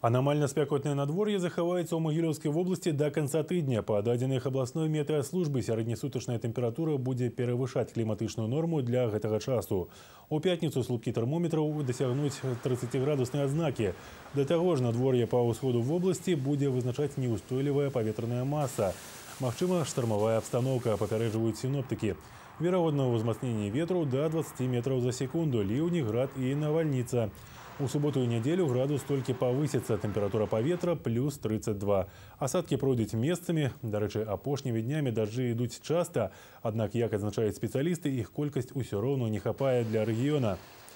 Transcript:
Анамальна спякотнае надвор'е захаваецца ў Магілёўскай вобласці да канца тыдня. Па дадзеных абласной метэаслужбы сярэднесутачная тэмпература будзе перавышаць кліматычную норму для гэтага часу. У пятніцу слупкі тэрмометраў дасягнуць 30-градуснай адзнакі. Да таго ж надвор'е па ўсходу вобласці будзе вызначаць неўстойлівая паветраная маса. Магчыма штармавая абстаноўка, папярэджваюць сіноптыкі. Верагодна ўзмацненне ветру да 20 метраў за секунду, ліўні, град і навальніца. У суботу і нядзелю градус толькі павысіцца, тэмпература паветра плюс 32. Асадкі пройдуць месцамі. Дарэчы, апошнімі днямі дажджы ідуць часта, аднак, як адзначаюць спецыялісты, іх колькасць усё роўна не хапае для рэгіёна.